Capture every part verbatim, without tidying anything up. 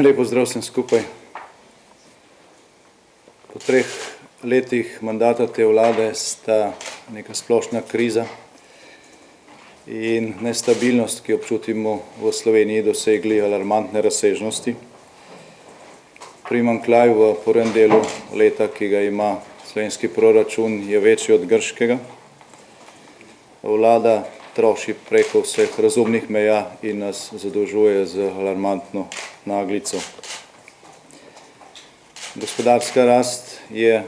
Lep pozdrav vsem skupaj. Po treh letih mandata te vlade sta neka splošna kriza in nestabilnost, ki jo občutimo v Sloveniji, dosegli alarmantne razsežnosti. Primanjkljaj v prvem delu leta, ki ga ima slovenski proračun, je večji od grškega. Vlada troši preko vseh razumnih meja in nas zadolžuje z alarmantno naglico. Gospodarska rast je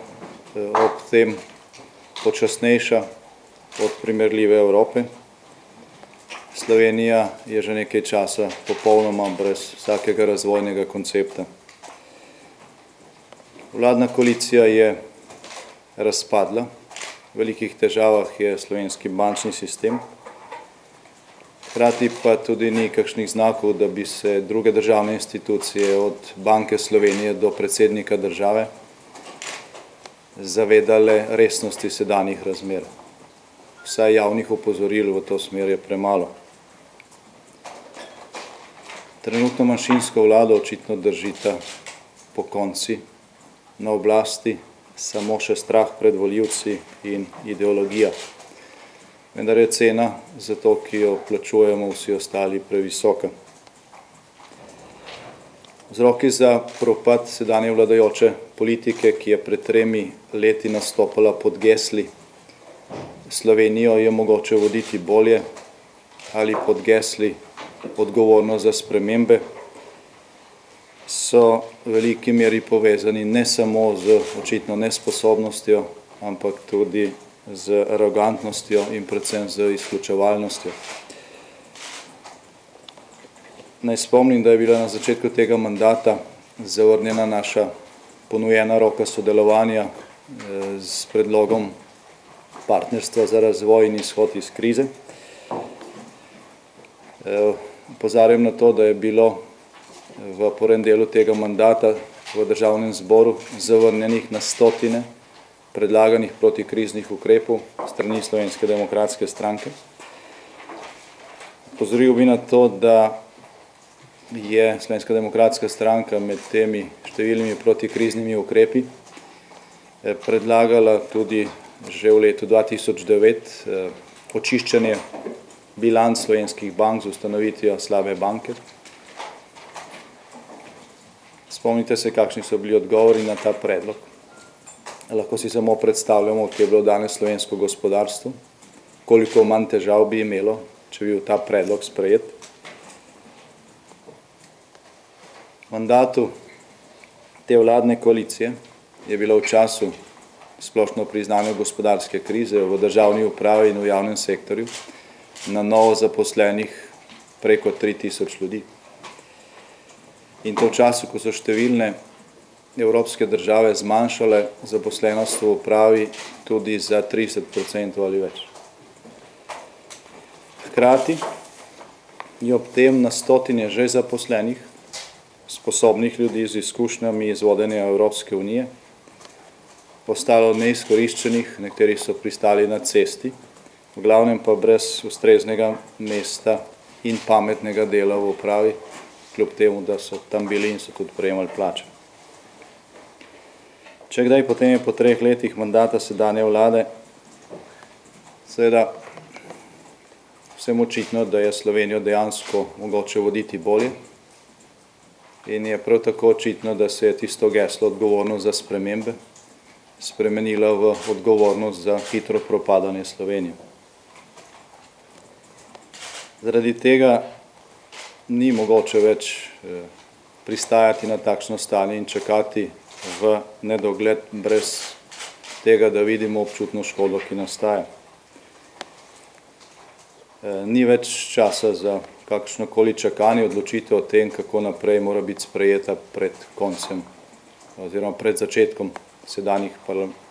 ob tem počasnejša od primerljive Evrope. Slovenija je že nekaj časa popolnoma brez vsakega razvojnega koncepta. Vladna koalicija je razpadla, v velikih težavah je slovenski bančni sistem, hkrati pa tudi ni kakšnih znakov, da bi se druge državne institucije od Banke Slovenije do predsednika države zavedale resnosti sedanjih razmer. Vsaj javnih opozoril v to smer je premalo. Trenutno manjšinsko vlado očitno držita pokonci na oblasti, samo še strah pred volivci in ideologija. Vendar je cena za to, ki jo plačujemo vsi ostali, previsoka. Vzroki za propad sedanje vladajoče politike, ki je pred tremi leti nastopala pod gesli Slovenijo je mogoče voditi bolje, ali pod gesli odgovornost za spremembe, so v veliki meri povezani ne samo z očitno nesposobnostjo, ampak tudi z arogantnostjo in predvsem z izključevalnostjo. Naj spomnim, da je bila na začetku tega mandata zavrnjena naša ponujena roka sodelovanja s predlogom partnerstva za razvoj in izhod iz krize. Opozarjam na to, da je bilo v prvem delu tega mandata v državnem zboru zavrnjenih na stotine predlaganih protikriznih ukrepov strani Slovenske demokratske stranke. Opozoril bi na to, da je Slovenska demokratska stranka med temi številnimi protikriznimi ukrepi predlagala tudi že v letu dva tisoč devet očiščenje bilanc slovenskih bank z ustanovitvijo slabe banke. Spomnite se, kakšni so bili odgovori na ta predlog. Lahko si samo predstavljamo, kje je bilo danes slovensko gospodarstvo, koliko manj težav bi imelo, če bi bil ta predlog sprejet. V mandatu te vladne koalicije je bilo v času splošno priznane gospodarske krize v državni upravi in v javnem sektorju na novo zaposlenih preko tri tisoč ljudi. In to v času, ko so številne evropske države zmanjšale zaposlenost v upravi tudi za trideset procentov ali več. Hkrati je ob tem na stotine že zaposlenih, sposobnih ljudi z izkušnjami iz vodenja Evropske unije, ostalo neizkoriščenih, nekateri so pristali na cesti, v glavnem pa brez ustreznega mesta in pametnega dela v upravi, kljub temu, da so tam bili in so tudi prejemali plače. Če kdaj, potem je po treh letih mandata sedanje vlade seveda vsem očitno, da je Slovenijo dejansko mogoče voditi bolje in je prav tako očitno, da se je tisto geslo odgovornost za spremembe spremenila v odgovornost za hitro propadanje Slovenije. Zaradi tega ni mogoče več pristajati na takšno stanje in čakati v nedogled brez tega, da vidimo občutno škodo, ki nastaja. Ni več časa za kakšnokoli čakanje, odločitev o tem, kako naprej mora biti sprejeta pred koncem oziroma pred začetkom sedanjih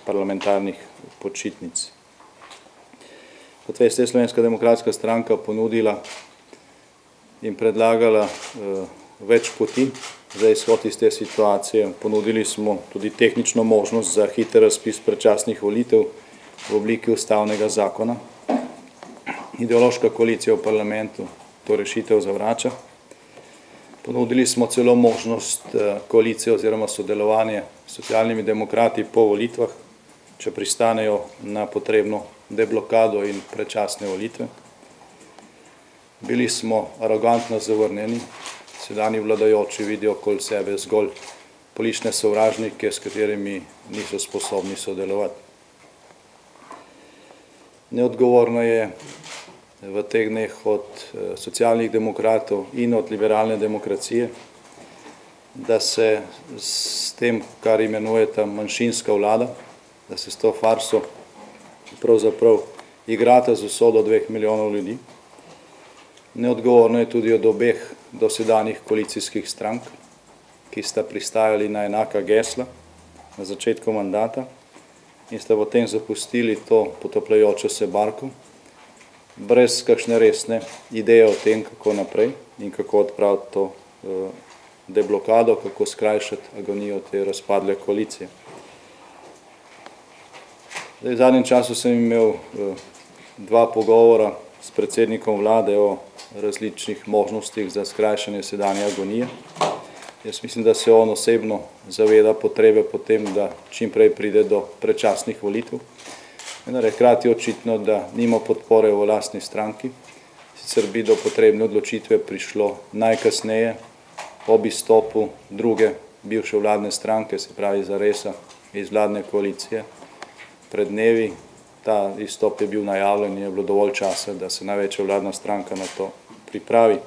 parlamentarnih počitnic. Kot veste, je Slovenska demokratska stranka ponudila in predlagala več poti za izhod iz te situacije. Ponudili smo tudi tehnično možnost za hiter razpis predčasnih volitev v obliki ustavnega zakona. Ideološka koalicija v parlamentu to rešitev zavrača. Ponudili smo celo možnost koalicije oziroma sodelovanje s socialnimi demokrati po volitvah, če pristanejo na potrebno deblokado in predčasne volitve. Bili smo arogantno zavrnjeni, sedanji vladajoči vidijo okoli sebe zgolj politične sovražnike, s katerimi niso sposobni sodelovati. Neodgovorno je v teh dneh od socialnih demokratov in od liberalne demokracije, da se s tem, kar imenujeta manjšinska vlada, da se s to farso pravzaprav igrata z usodo dveh milijonov ljudi. Neodgovorno je tudi od obeh dosedanjih koalicijskih strank, ki sta pristajali na enaka gesla na začetku mandata in sta potem zapustili to potapljajočo se barko, brez kakšne resne ideje o tem, kako naprej in kako odpraviti to deblokado, kako skrajšati agonijo te razpadle koalicije. Zdaj, v zadnjem času sem imel dva pogovora s predsednikom vlade o različnih možnostih za skrajšanje sedanje agonije. Jaz mislim, da se on osebno zaveda potrebe po tem, da čim prej pride do predčasnih volitev. Vendar je hkrati očitno, da nima podpore v lastni stranki, sicer bi do potrebne odločitve prišlo najkasneje ob izstopu druge bivše vladne stranke, se pravi Zaresa, iz vladne koalicije. Pred dnevi ta izstop je bil najavljen in je bilo dovolj časa, da se največja vladna stranka na to pripravi.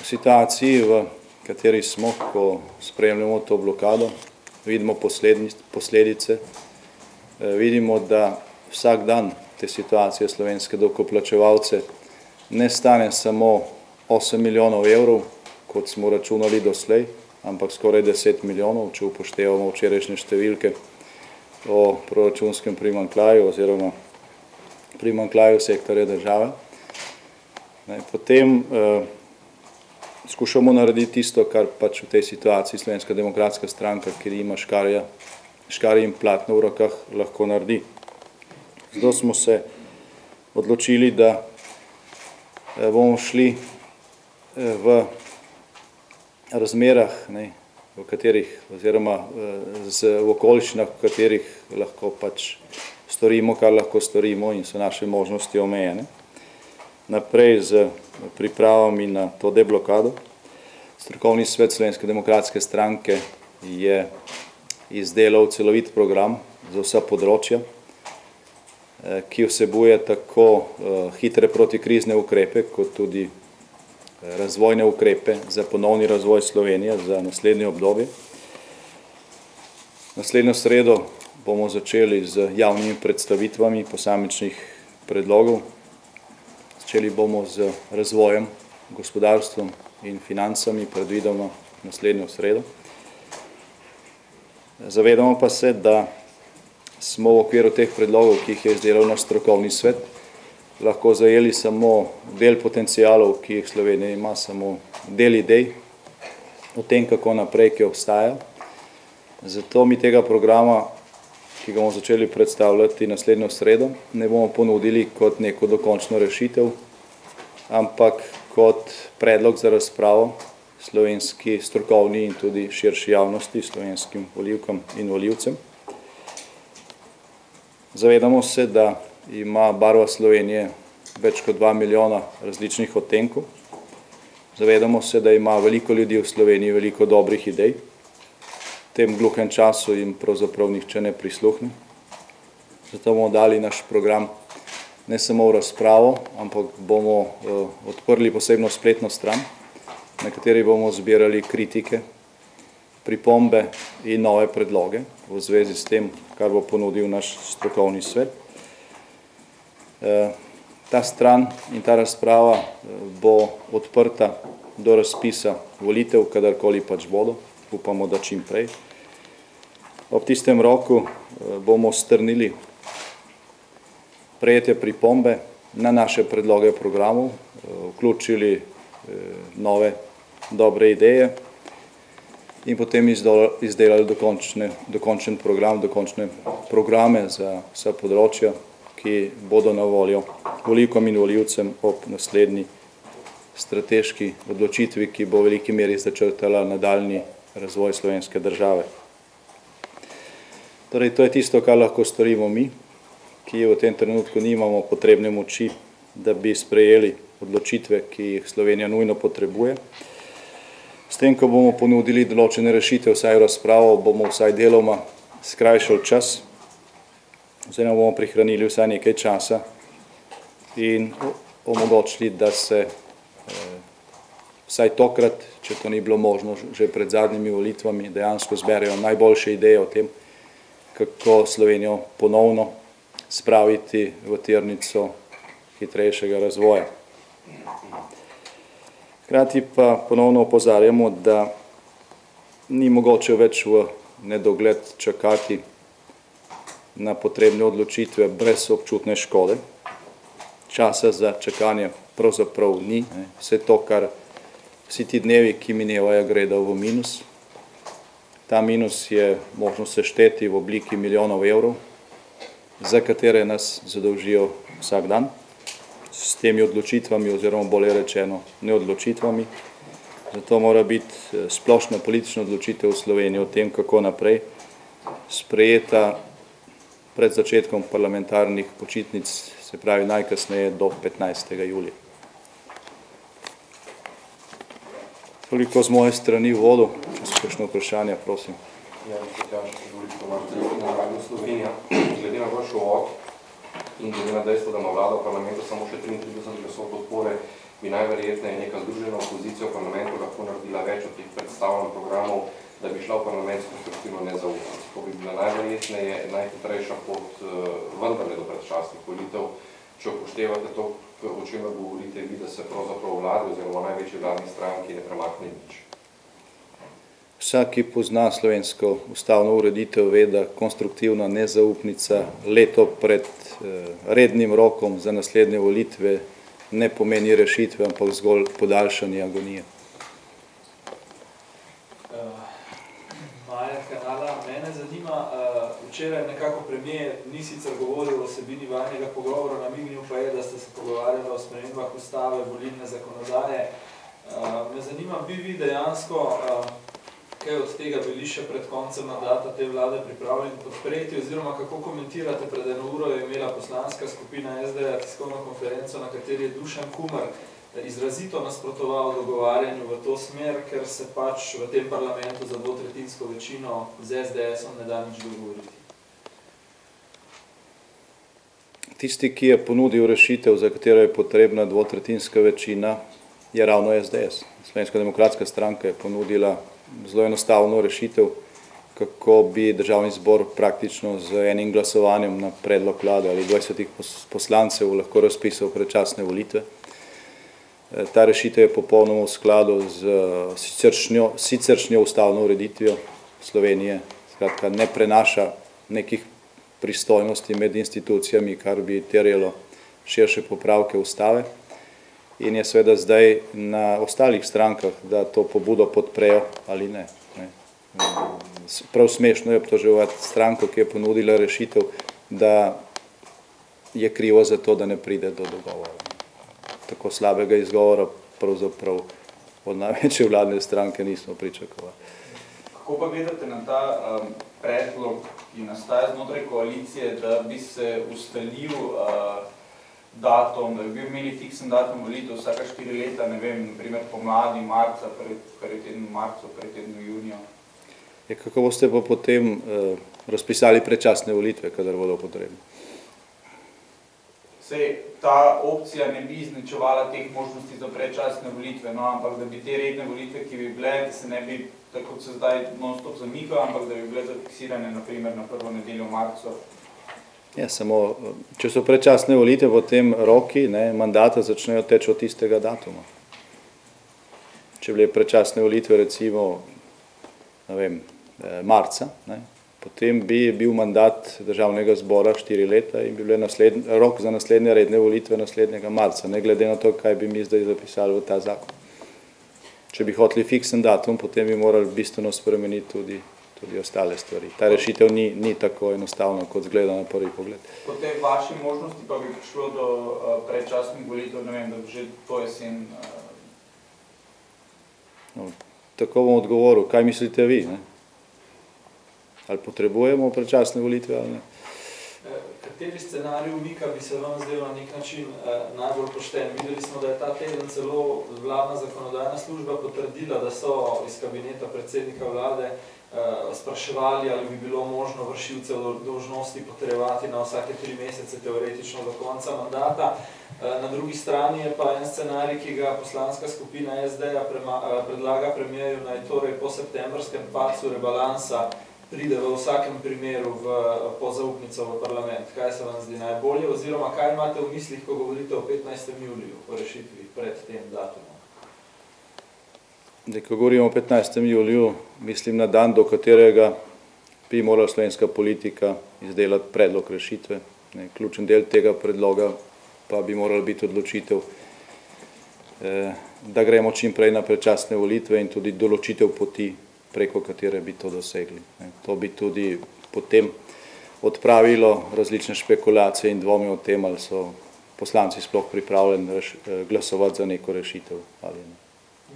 V situaciji, v kateri smo, ko spremljamo to blokado, vidimo posledice, vidimo, da vsak dan te situacije slovenske davkoplačevalce ne stane samo osem milijonov evrov, kot smo računali doslej, ampak skoraj deset milijonov, če upoštevamo včerajšnje številke o proračunskem primanjkljaju oziroma primanjkljaju sektorja države. Potem skušamo narediti tisto, kar pač v tej situaciji Slovenska demokratska stranka, ki ima škarje in platno v rokah, lahko naredi. Zato smo se odločili, da bomo šli v razmerah, v katerih oziroma v okoliščinah, v katerih lahko pač storimo, kar lahko storimo in so naše možnosti omejene. Naprej z pripravami na to deblokado. Strokovni svet Slovenske demokratske stranke je izdelal celovit program za vsa področja, ki vsebuje tako hitre protikrizne ukrepe, kot tudi razvojne ukrepe za ponovni razvoj Slovenije za naslednje obdobje. Naslednjo sredo bomo začeli z javnimi predstavitvami posamičnih predlogov. Začeli bomo z razvojem, gospodarstvom in financami, predvidoma naslednjo sredo. Zavedamo pa se, da smo v okviru teh predlogov, ki jih je izdelal naš strokovni svet, lahko zajeli samo del potencialov, ki jih Slovenija ima, samo del idej o tem, kako naprej, ki obstaja. Zato mi tega programa, ki ga bomo začeli predstavljati naslednjo sredo, ne bomo ponudili kot neko dokončno rešitev, ampak kot predlog za razpravo slovenski strokovni in tudi širši javnosti, slovenskim volivkam in volivcem. Zavedamo se, da ima barva Slovenije več kot dva milijona različnih odtenkov. Zavedamo se, da ima veliko ljudi v Sloveniji veliko dobrih idej. V tem gluhem času jim pravzaprav nihče ne prisluhne. Zato bomo dali naš program ne samo v razpravo, ampak bomo odprli posebno spletno stran, na kateri bomo zbirali kritike, pripombe in nove predloge v zvezi s tem, kar bo ponudil naš strokovni svet. Ta stran in ta razprava bo odprta do razpisa volitev, kadarkoli pač bodo, upamo, da čim prej. Ob tistem roku bomo strnili prejete pripombe na naše predloge programov, vključili nove dobre ideje in potem izdelali dokončen program, dokončne programe za vsa področja, ki bodo na voljo volivkam in volivcem ob naslednji strateški odločitvi, ki bo v veliki meri začrtala nadaljnji razvoj slovenske države. Torej, to je tisto, kar lahko storimo mi, ki v tem trenutku nimamo potrebne moči, da bi sprejeli odločitve, ki jih Slovenija nujno potrebuje. S tem, ko bomo ponudili določene rešitve, vsaj razpravo, bomo vsaj deloma skrajšali čas, oziroma bomo prihranili vsaj nekaj časa in omogočili, da se eh, vsaj tokrat, če to ni bilo možno že pred zadnjimi volitvami, dejansko zberejo najboljše ideje o tem, kako Slovenijo ponovno spraviti v tirnico hitrejšega razvoja. Hkrati pa ponovno opozarjamo, da ni mogoče več v nedogled čakati na potrebne odločitve brez občutne škode. Časa za čakanje pravzaprav ni. Vse to, kar vsi ti dnevi, ki minevajo, gredo v minus. Ta minus je možno sešteti v obliki milijonov evrov, za katere nas zadolžijo vsak dan s temi odločitvami oziroma bolje rečeno neodločitvami. Zato mora biti splošna politična odločitev v Sloveniji o tem, kako naprej, sprejeta pred začetkom parlamentarnih počitnic, se pravi najkasneje do petnajstega julija. Toliko z moje strani v vodu, če so kakšne vprašanja, prosim. Ja, Tjaž, dovolite, to imate na Radio Slovenija. Glede na vaš uvod in glede na dejstvo, da ima vlada v parlamentu samo še triintrideset glasov podpore, bi najverjetneje neka združena opozicija v parlamentu lahko naredila več od teh predstavljenih programov, da bi šla v parlament s konstruktivno nezaupnico. To bi bila najverjetneje najhitrejša pot vendarle do predčasnih volitev, če upoštevate to, o čemer govorite vi, da se pravzaprav vladi oziroma največji vladni stranki ne premakne nič. Vsak, ki pozna slovensko ustavno ureditev, ve, da konstruktivna nezaupnica leto pred rednim rokom za naslednje volitve ne pomeni rešitve, ampak zgolj podaljšanje agonije. Maja Kanala, mene zanima, včeraj nekako premijer ni sicer govoril o vsebini vajnega pogovora, namignil pa je, da ste se pogovarjali o spremembah ustave, volilne zakonodaje. Me zanima, bi vi dejansko kaj od tega bili še pred koncem mandata te vlade pripravljeni podpreti, oziroma kako komentirate, pred eno uro je imela poslanska skupina es de a tiskovno konferenco, na kateri je Dušan Kumar izrazito nasprotoval dogovarjanju v to smer, ker se pač v tem parlamentu za dvotretjinsko večino z es de esom ne da nič dogovoriti. Tisti, ki je ponudil rešitev, za katero je potrebna dvotretjinska večina, je ravno es de es. Slovenska demokratska stranka je ponudila zelo enostavno rešitev, kako bi državni zbor praktično z enim glasovanjem na predlog vlade ali dvajsetih poslancev lahko razpisal predčasne volitve. Ta rešitev je popolnoma v skladu z siceršnjo, siceršnjo ustavno ureditvijo Slovenije, skratka ne prenaša nekih pristojnosti med institucijami, kar bi terjalo širše popravke ustave. In je seveda zdaj na ostalih strankah, da to pobudo podprejo ali ne. Prav smešno je obtoževati stranko, ki je ponudila rešitev, da je krivo za to, da ne pride do dogovora. Tako slabega izgovora pravzaprav od največje vladne stranke nismo pričakovali. Kako pa gledate na ta um, predlog, ki nastaja znotraj koalicije, da bi se ustalil uh, datum, da bi bil imeli fiksen datum volitev vsaka štiri leta, ne vem, naprimer pomladi, marca, pred tednu marcu, pred tednu junijo? Je, kako boste pa potem uh, razpisali predčasne volitve, kadar bodo potrebne? Sej, ta opcija ne bi izničevala teh možnosti za predčasne volitve, no, ampak da bi te redne volitve, ki bi bile, da se ne bi, tako kot se zdaj non-stop zamikajo, ampak da bi bile zafiksirane, naprimer, na prvo nedeljo v marcu. Ja, samo, če so predčasne volitve, potem roki ne, mandata začnejo teči od tistega datuma. Če bile predčasne volitve, recimo, ne vem, marca, ne, potem bi bil mandat državnega zbora štiri leta in bi bil rok za naslednje redne volitve naslednjega marca, ne glede na to, kaj bi mi zdaj zapisali v ta zakon. Če bi hoteli fiksen datum, potem bi morali bistveno spremeniti tudi, tudi ostale stvari. Ta rešitev ni, ni tako enostavna, kot zgleda na prvi pogled. Po tej vaši možnosti pa bi prišlo do uh, predčasnih volitev, ne vem, da bi že to jesen uh, No, tako bom odgovoril, kaj mislite vi? Ne? Ali potrebujemo predčasne volitve ali ne? Kateri scenarij umika bi se vam zdel na nek način eh, najbolj pošten? Videli smo, da je ta teden celo vladna zakonodajna služba potrdila, da so iz kabineta predsednika vlade eh, spraševali, ali bi bilo možno vršilce dolžnosti potrjevati na vsake tri mesece, teoretično do konca mandata. Eh, na drugi strani je pa en scenarij, ki ga poslanska skupina S D-ja predlaga premierju, naj torej po septembrskem padcu rebalansa pride v vsakem primeru v pozaupnico v parlament. Kaj se vam zdi najbolje, oziroma kaj imate v mislih, ko govorite o petnajstem juliju, o rešitvi pred tem datumom? Zdaj, ko govorimo o petnajstem juliju, mislim na dan, do katerega bi morala slovenska politika izdelati predlog rešitve. Ne, ključen del tega predloga pa bi morala biti odločitev, eh, da gremo čim prej na predčasne volitve in tudi določitev poti, preko katere bi to dosegli. To bi tudi potem odpravilo različne špekulacije in dvomi o tem, ali so poslanci sploh pripravljeni glasovati za neko rešitev ali ne.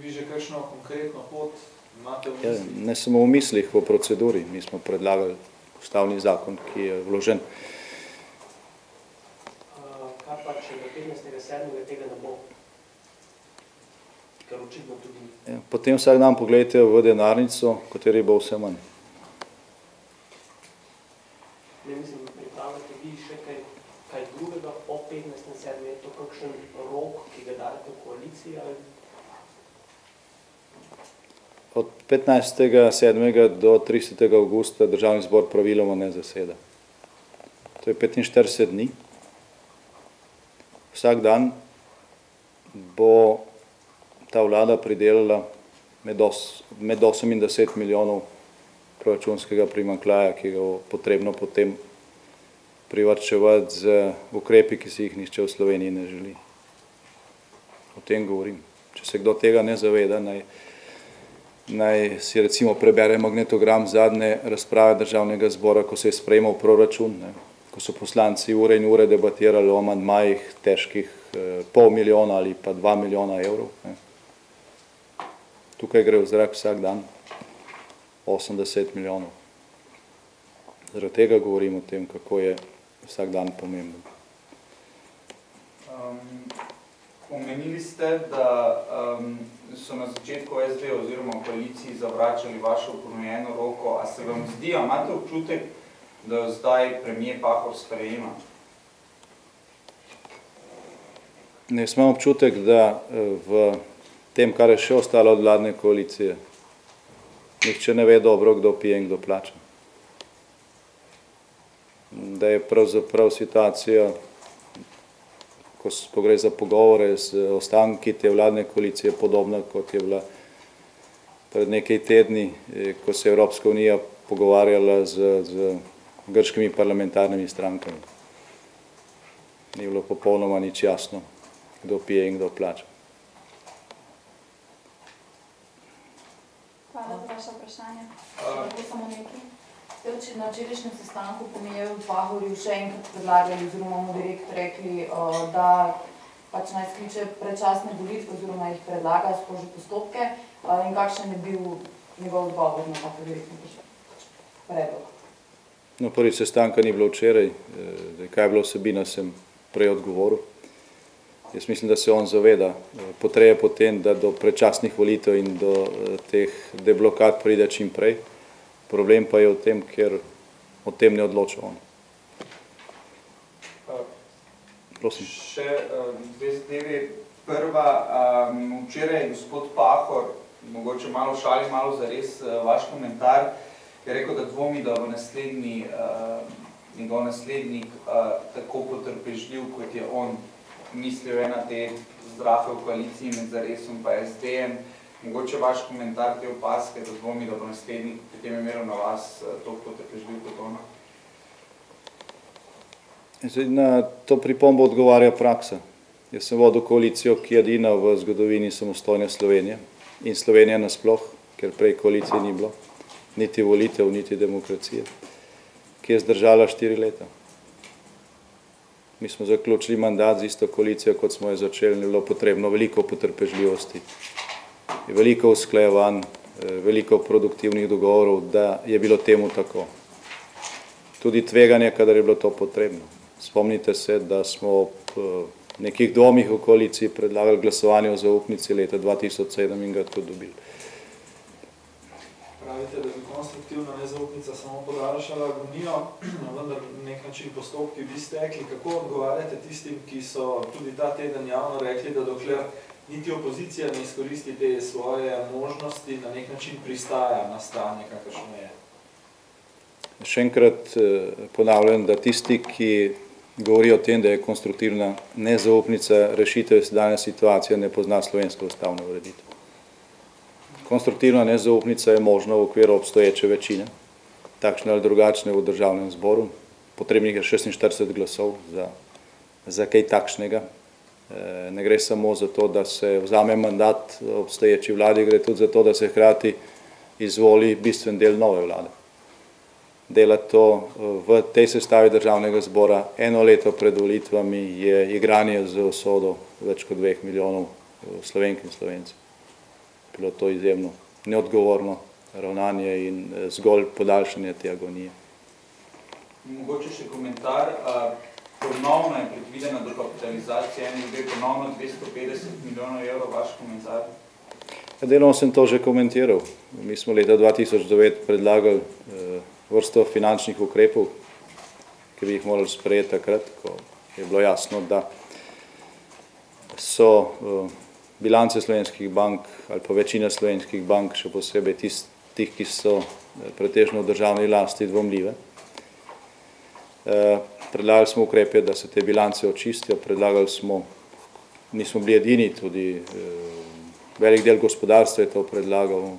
Vi že kakšno konkretno pot imate v Ja, mislih? ne samo v mislih, v proceduri. Mi smo predlagali ustavni zakon, ki je vložen. Kaj pa, če do petnajstega sedmega tega ne bo? Ker očitno tudi ni. Ja, potem vsak dan pogledajte v denarnico, kateri bo vse manj. Ne mislim, pripravljate vi še kaj, kaj drugega po petnajstem sedmem, je to kakšen rok, ki ga dajete v koaliciji? Ali? Od petnajstega sedmega do tridesetega avgusta državni zbor praviloma ne zaseda. To je petinštirideset dni. Vsak dan bo ta vlada pridelala med, os, med osem in deset milijonov proračunskega primanjkljaja, ki ga bo potrebno potem privarčevati z ukrepi, ki si jih nihče v Sloveniji ne želi. O tem govorim. Če se kdo tega ne zaveda, naj, naj si recimo prebere magnetogram zadnje razprave državnega zbora, ko se je sprejemal proračun, ne, ko so poslanci ure in ure debatirali o amandmajih težkih eh, pol milijona ali pa dva milijona evrov. Ne. Tukaj gre v zrak vsak dan osemdeset milijonov. Zaradi tega govorim o tem, kako je vsak dan pomemben. Um, omenili ste, da um, so na začetku S D oziroma koaliciji zavračali vašo ponujeno roko. A se vam zdi, a imate občutek, da jo zdaj premier Pahor sprejema? Ne, jaz imam občutek, da v tem, kar je še ostalo od vladne koalicije, nihče ne ve dobro, kdo pije in kdo plača. Da je pravzaprav situacija, ko, ko gre za pogovore z ostanki te vladne koalicije, podobna, kot je bila pred nekaj tedni, ko se je Evropska unija pogovarjala z, z grškimi parlamentarnimi strankami. Ni bilo popolnoma nič jasno, kdo pije in kdo plača. Hvala za vaše vprašanje. Lahko samo nekaj. Ste na včerajšnjem sestanku premierju Pahorju še enkrat predlagali oziroma mu direkt rekli, da pač naj skliče predčasne volitve oziroma jih predlaga, sproži postopke, in kakšen je bil njegov odgovor na tako direktni predlog? No, prvi sestanka ni bilo včeraj, kaj je bilo vsebina, sem prej odgovoril. Jaz mislim, da se on zaveda potrebe potem, da do predčasnih volitev in do teh deblokad pride čim prej. Problem pa je v tem, ker o tem ne odloča on. Prosim. Še dve zadevi. Prva, um, včeraj je gospod Pahor, mogoče malo šali, malo zares vaš komentar, je rekel, da dvomi, da v naslednji, uh, njegov naslednik uh, tako potrpežljiv, kot je on mislil ena te zdrafe v koaliciji med Zaresom pa S D-jem. Mogoče vaš komentar te opaske, da dvomi, da bo naslednik pri tem imel na vas toliko potrpežljiv kot ona? Na to pripombo odgovarja praksa. Jaz sem vodil koalicijo, ki je edina v zgodovini samostojne Slovenije in Slovenije nasploh, ker prej koalicije ni bilo, niti volitev, niti demokracije, ki je zdržala štiri leta. Mi smo zaključili mandat z isto koalicijo, kot smo jo začeli, ni bilo potrebno veliko potrpežljivosti veliko usklajevanj, veliko produktivnih dogovorov, da je bilo temu tako. Tudi tveganje, kadar je bilo to potrebno. Spomnite se, da smo ob nekih dvomih v koaliciji predlagali glasovanje o zaupnici leta dva tisoč sedem in ga tudi dobili. Pravite, da bi konstruktivna nezaupnica samo podaljšala agonijo, vendar nek način postopki bi stekli. Kako odgovarjate tistim, ki so tudi ta teden javno rekli, da dokler niti opozicija ne izkoristi te svoje možnosti, na nek način pristaja na stanje, kakršno je? Še enkrat ponavljam, da tisti, ki govori o tem, da je konstruktivna nezaupnica rešitev sedanje situacije, ne pozna slovensko ustavno ureditev. Konstruktivna nezaupnica je možna v okviru obstoječe večine, takšne ali drugačne v državnem zboru. Potrebnih je šestinštirideset glasov za, za kaj takšnega. Ne gre samo za to, da se vzame mandat obstoječi vladi, gre tudi za to, da se hkrati izvoli bistven del nove vlade. Dela to v tej sestavi državnega zbora eno leto pred volitvami je igranje z usodo več kot dveh milijonov Slovenk in Slovencev. Bilo to izjemno neodgovorno ravnanje in zgolj podaljšanje te agonije. Mogoče še komentar. Ponovno je predvidena dokapitalizacija N S B, ponovno dvesto petdeset milijonov evrov, vaš komentar? Deloma sem to že komentiral. Mi smo leta dva tisoč devet predlagali vrsto finančnih ukrepov, ki bi jih morali sprejeti takrat, ko je bilo jasno, da so bilance slovenskih bank ali pa večina slovenskih bank, še posebej tistih, ki so pretežno v državni lasti, dvomljive. Predlagali smo ukrepe, da se te bilance očistijo, predlagali smo, nismo bili edini, tudi velik del gospodarstva je to predlagal,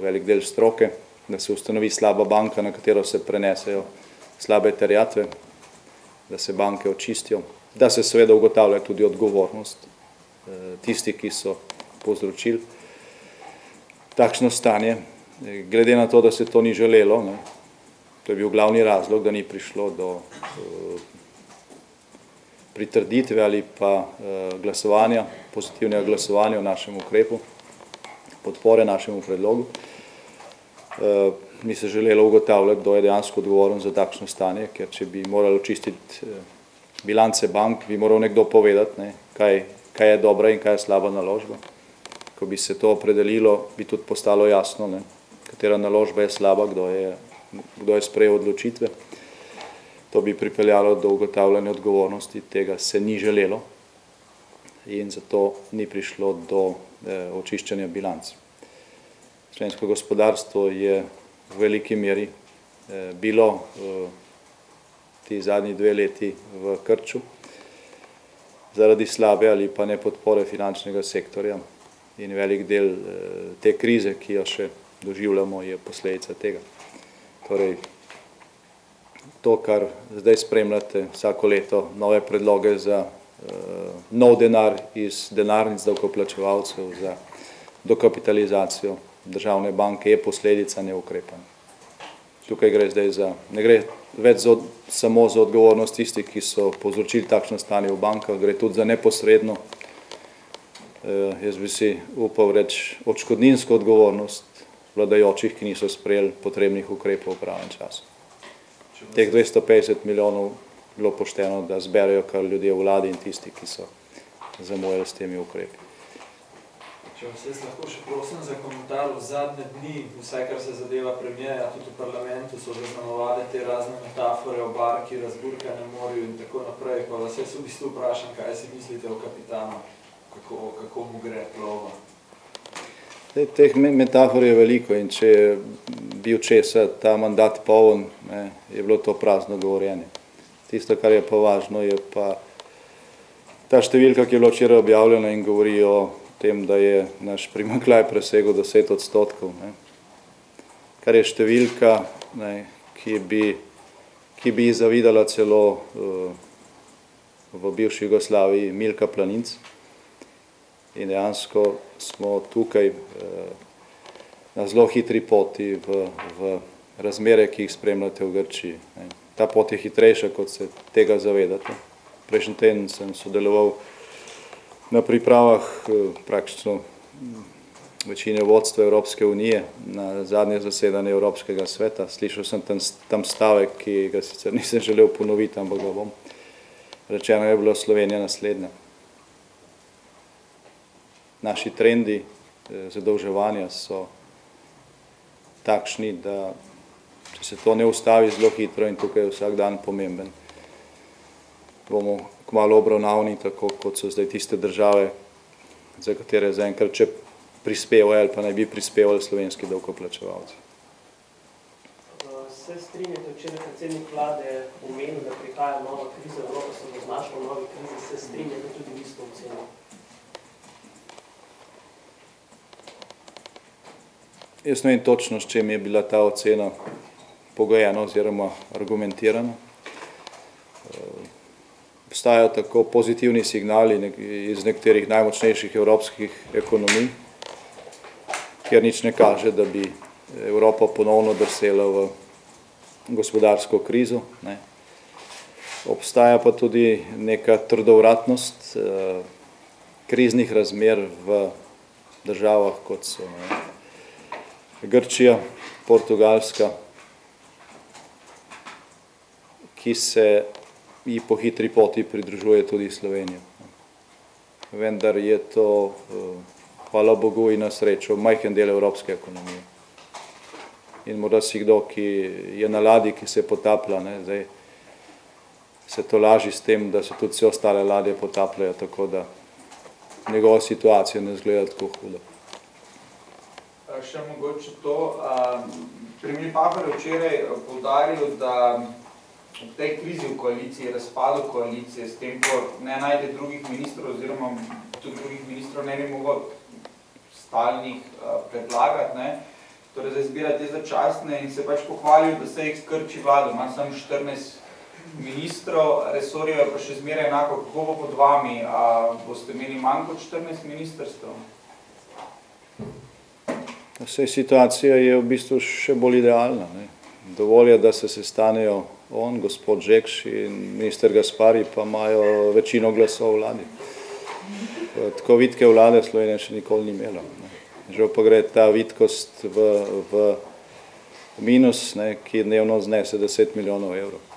velik del stroke, da se ustanovi slaba banka, na katero se prenesejo slabe terjatve, da se banke očistijo, da se seveda ugotavlja tudi odgovornost tisti, ki so povzročili takšno stanje. Glede na to, da se to ni želelo, ne, to je bil glavni razlog, da ni prišlo do uh, pritrditve ali pa uh, glasovanja, pozitivnega glasovanja o našem ukrepu, podpore našemu predlogu. Uh, ni se želelo ugotavljati, kdo je dejansko odgovoren za takšno stanje, ker če bi morali očistiti uh, bilance bank, bi moral nekdo povedati, ne, kaj, kaj je dobra in kaj je slaba naložba. Ko bi se to opredelilo, bi tudi postalo jasno, ne, katera naložba je slaba, kdo je, kdo je sprejel odločitve. To bi pripeljalo do ugotavljanja odgovornosti, tega se ni želelo in zato ni prišlo do eh, očiščanja bilanc. Slovensko gospodarstvo je v veliki meri eh, bilo eh, ti zadnji dve leti v krču zaradi slabe ali pa ne podpore finančnega sektorja in velik del eh, te krize, ki jo še doživljamo, je posledica tega. Torej, to, kar zdaj spremljate vsako leto, nove predloge za uh, nov denar iz denarnic davkoplačevalcev, za dokapitalizacijo državne banke, je posledica neukrepanja. Tukaj gre zdaj za, ne gre več za, samo za odgovornost tistih, ki so povzročili takšno stanje v bankah, gre tudi za neposredno, uh, jaz bi si upal reči, odškodninsko odgovornost vladajočih, ki niso sprejeli potrebnih ukrepov v pravem času. Teh dvesto petdeset milijonov bilo pošteno, da zberejo kar ljudje v vladi in tisti, ki so zamujali s temi ukrepi. Če vas jaz lahko še prosim za komentar, v zadnje dni, vsaj kar se zadeva premijeja, tudi v parlamentu so zaznamovali te razne metafore o barki, razburkanem morju in tako naprej, pa vas jaz v bistvu vprašam, kaj si mislite o kapitanu, kako, kako mu gre plovba. Teh metafor je veliko in če je bil česa ta mandat poln, ne, je bilo to prazno govorjenje. Tisto, kar je pa važno, je pa ta številka, ki je bila včeraj objavljena in govori o tem, da je naš primanjkljaj presegel deset odstotkov, ne, kar je številka, ne, ki bi, ki bi zavidala celo uh, v bivši Jugoslaviji Milka Planinc. In dejansko smo tukaj eh, na zelo hitri poti v, v razmere, ki jih spremljate v Grčiji. Ta pot je hitrejša, kot se tega zavedate. Prejšnji teden sem sodeloval na pripravah eh, praktično večine vodstva Evropske unije na zadnje zasedanje Evropskega sveta. Slišal sem tam, tam stavek, ki ga sicer nisem želel ponoviti, ampak ga bom. Rečeno je bilo Slovenija naslednja. Naši trendi zadolževanja so takšni, da če se to ne ustavi zelo hitro in tukaj je vsak dan pomemben, bomo kmalu obravnavni tako, kot so zdaj tiste države, za katere zaenkrat če prispevajo ali pa naj bi prispevali slovenski davkoplačevalci. Se strinjate, včeraj predsednik vlade omenil, da prihaja nova kriza, Evropa se bo znašla v novi krizi, se strinjate tudi vi s to oceno? Jaz ne vem točno, s čem je bila ta ocena pogojena oziroma argumentirana. Obstajajo tako pozitivni signali iz nekaterih najmočnejših evropskih ekonomij, kjer nič ne kaže, da bi Evropa ponovno drsela v gospodarsko krizo. Ne. Obstaja pa tudi neka trdovratnost eh, kriznih razmer v državah, kot so ne, Grčija, Portugalska, ki se ji po hitri poti pridružuje tudi Slovenija. Vendar je to, hvala Bogu in na srečo, majhen del evropske ekonomije. In morda si kdo, ki je na ladji, ki se potaplja, ne, zdaj se to laži s tem, da se tudi vse ostale ladje potapljajo, tako da njegova situacija ne izgleda tako hudo. Še mogoče to. Premijer Pahor je včeraj poudaril, da v tej krizi v koaliciji, razpadu koalicije, s tem, ko ne najde drugih ministrov oziroma tudi drugih ministrov ne bi mogel stalnih predlagati, ne, torej za izbira te začasne in se pač pohvalil, da se jih skrči vlado. Ima samo štirinajst ministrov, resorjev je pa še zmeraj enako. Kako bo pod vami? A boste imeli manj kot štirinajst ministrstev? Vse situacija je v bistvu še bolj idealna. Ne. Dovolj je, da se sestanejo on, gospod Žekš in minister Gaspari, pa imajo večino glasov v vladi. Tako vitke vlade Slovenija še nikoli ni imela. Ne. Žal pa gre ta vitkost v, v minus, ne, ki dnevno znese deset milijonov evrov.